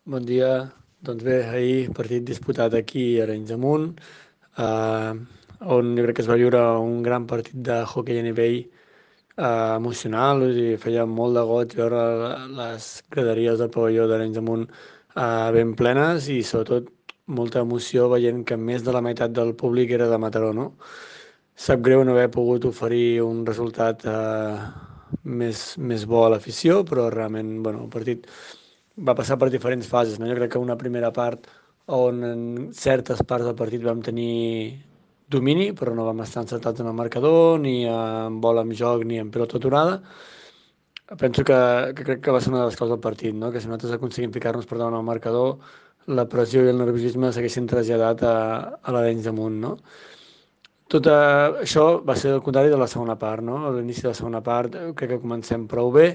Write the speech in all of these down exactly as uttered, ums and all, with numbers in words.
Bon dia. Doncs bé, ahir partit disputat aquí a Arenys de Munt, eh, on jo crec que es va viure un gran partit de hoquei a nivell eh, emocional, o sigui, feia molt de goig veure les graderies del pavelló d'Arenys de Munt eh, ben plenes i sobretot molta emoció veient que més de la meitat del públic era de Mataró, no? Sap greu no haver pogut oferir un resultat eh, més, més bo a l'afició, però realment, bueno, el partit va passar per diferents fases, no? Jo crec que una primera part on en certes parts del partit vam tenir domini, però no vam estar encertats en el marcador, ni en bola amb joc, ni en pilota aturada. Penso que, que crec que va ser una de les coses del partit, no? Que si nosaltres aconseguim ficar-nos per davant al marcador, la pressió i el nerviosisme s'haguessin traslladat a, a l'Arenys de Munt, no? Tot eh, això va ser el contrari de la segona part, no? A l'inici de la segona part eh, crec que comencem prou bé,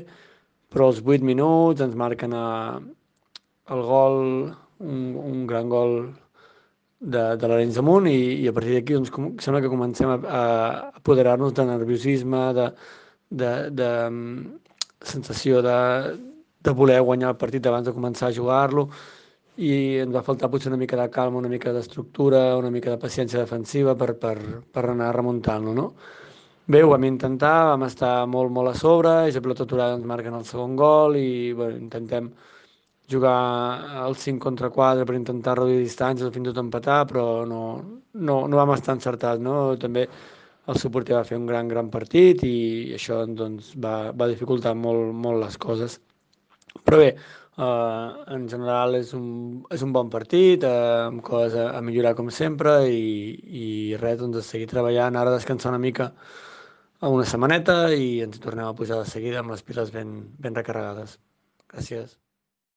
però als vuit minuts ens marquen a, el gol, un, un gran gol de, de l'Arenys de Munt i, i a partir d'aquí doncs, com, sembla que comencem a, a apoderar-nos de nerviosisme, de, de, de mm, sensació de, de voler guanyar el partit abans de començar a jugar-lo i ens va faltar potser una mica de calma, una mica d'estructura, una mica de paciència defensiva per, per, per anar remuntant-lo, no? Bé, ho vam intentar, vam estar molt, molt a sobre, i la pilota aturada ens marquen el segon gol i bueno, intentem jugar al cinc contra quatre per intentar reduir distàncies o fins i tot empatar, però no, no, no vam estar encertats, no? També el suporter va fer un gran, gran partit i això doncs, va, va dificultar molt, molt les coses. Però bé, eh, en general és un, és un bon partit, eh, amb coses a, a millorar com sempre i, i res, doncs a seguir treballant, ara descansar una mica a una setmaneta i ens hi tornem a pujar de seguida amb les piles ben, ben recarregades. Gràcies.